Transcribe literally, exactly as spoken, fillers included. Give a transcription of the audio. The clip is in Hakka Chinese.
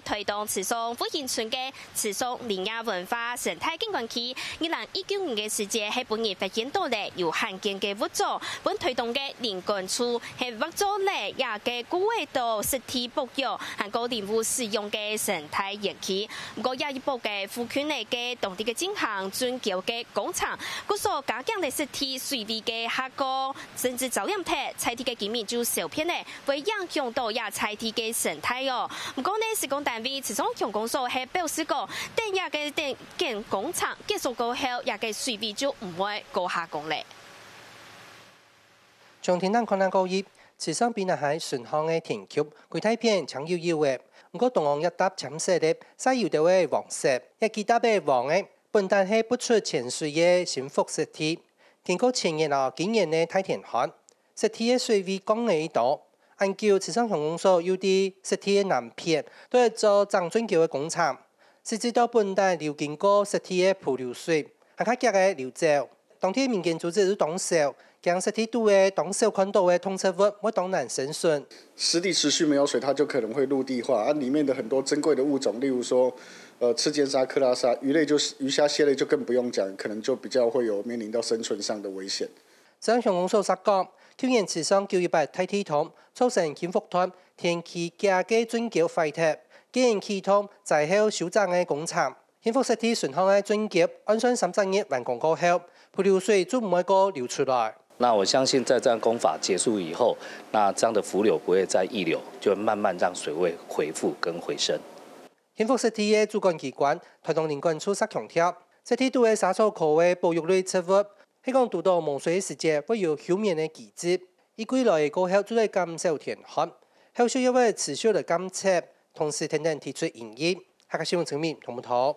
臺東池上復興村个池上林業文化生態景觀區，二零一九年个時節，係分人發現到了有罕見个物種，分臺東个林管處係劃做了這个古味道濕地保育，還過林務使用个生態園區。毋過這一幅个附近个當地个進行準橋个工程，故所加強了濕地水位个下降，甚至遭淹忒，在地个居民就受騙了。 會影響到這在地个生態哦。毋過呢，施工單位池上鄉公所係表示講，等這个等建工程結束過後，這个水位就毋會過下降了。從天頂看下過去，池上比那海順巷个田區，歸大片青油油个，毋過中央一搭淺色个，晒油兜个黃色，這幾搭个黃个，本旦係不出淺水个新福濕地。經過前年啊、今年个大天旱， 濕地个水位降了一多。恁久，池上鄉公所又在濕地个南片，都係做整圳橋个工程，實際到本旦流經過濕地个伏流水，還較遽个流走。當地民間組織就當愁，驚濕地肚个當少看到个動植物會當難生存。濕地持續沒有水，它就可能會陸地化，啊，裡面的很多珍貴的物種，例如說，呃，赤尖鯊、克拉鯊、魚類就是魚蝦蟹類就更不用講，可能就比較會有面臨到生存上的危險。 池上鄉公所所講，舊年池上九一八大地動，造成興福段田坵隔个圳橋壞忒，今年啟動災後修整个工程。興福濕地順巷个圳橋，按算三十日完工過後，伏流水就毋會過流出來。那我相信在這樣工法結束以後，那這樣的伏流不會再溢流，就會慢慢讓水位回復跟回升。 興福濕地个主管機關臺東林管處煞強調，濕地肚个沙草科个保育類植物，係講堵到無水个時節，會有休眠个機制，一季來過後就會減少天旱，後續又會持續來監測，同時跈等提出建議。客家新聞陳明、童木頭。